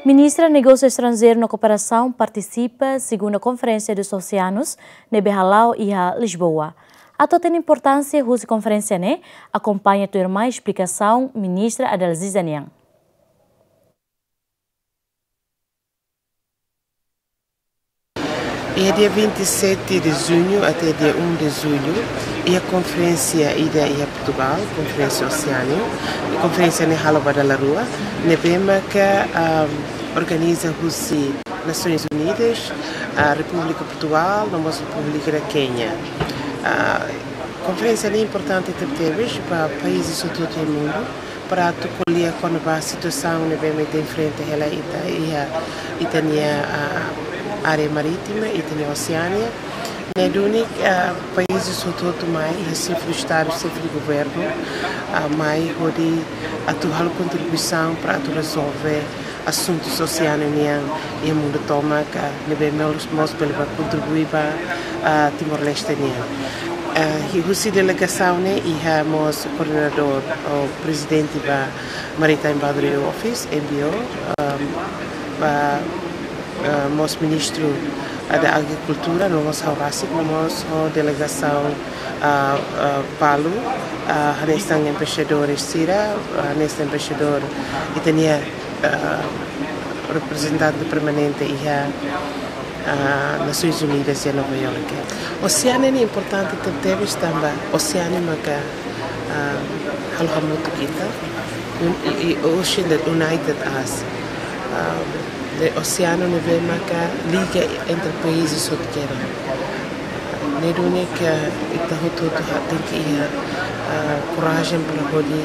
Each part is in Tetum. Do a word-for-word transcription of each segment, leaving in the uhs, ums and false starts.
Ministra Negósiu Estranjeiru no Kooperasaun partisipa segunda Konferénsia dos Oseanus ne'ebé hala'o iha Lisboa. Atu hatene importánsia husi konferénsia ne'e, akompaña tuirmai esplikasaun Ministra Adalziza nian. Iha dia vinte e sete de junho até dia um de julho, iha konferénsia ida iha Portugal, konferénsia Oseanu, konferénsia ne'e halo ba dala rua, ne'ebé maka, ahm, organiza husi Nações Unidas, a República Portugal, no mós República da Quênia. Ah, konferénsia ne'e importante tebetebes ba países hotu-hotu iha mundu, para atu ko'alia kona-ba situasaun ne'ebé mak ita enfrenta hela ita iha ita-nia, ah, área marítima, ita-nia Oseania. Ne'e duni, ah, países hotu-hotu mai, iha xefe de Estadu, xefe de Governu, ah, mai hodi atu halo kontribuisaun para atu rezolve asuntus Oseanu nian iha mundu tomak, ne'ebé mós, mós bele ba kontribui ba, ah, Timor-Leste nian. Ah, i husi delegasaun ne'e iha mós koordenadór ou prezidente ba Maritime Boundary Office, M B O, ah, ba, ah, mós ministru, ah, da Agrikultura, no mós ha'u rasik, no mós ho delegasaun, ah, ah, balu, ah, hanesan embaixadór sira, ah, hanesan embaixadór ita-nia, ah, reprezentante permanente iha, ah, Nações Unidas iha Nova York. Oseanu ne'e importante tebetebes tanba Oseanu maka, ah, halo hamutuk ita, un-, i, i, ocean that united us. Ah, ne'e oseanu ne'ebé maka liga entre países hotu kedas. Ne'e duni ke ita hotu-hotu ha-, tenke iha, ah, korajen para hodi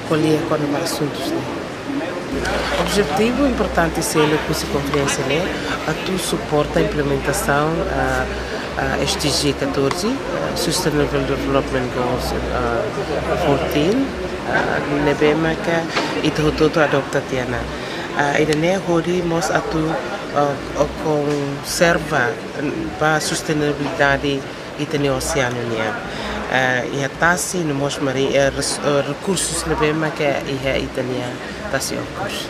ko'alia kona-ba asuntus ne'e. Objetivu importante seluk husi konferénsia ne'e atu suporta implementasaun, ah, ah, S D G catorze, ah, Sustainable Development Goals, ah, fourteen, ah, ne'ebé maka ita hotu-hotu adota tiha ona. Ah, ida-ne'e hodi mós atu, ah, konserva ba sustentabilidade ita-nia oseanu nian. Ah, iha tasi no mós mari, eh, res-, eh, rekursus ne'ebé maka iha ita-nia tasi okos.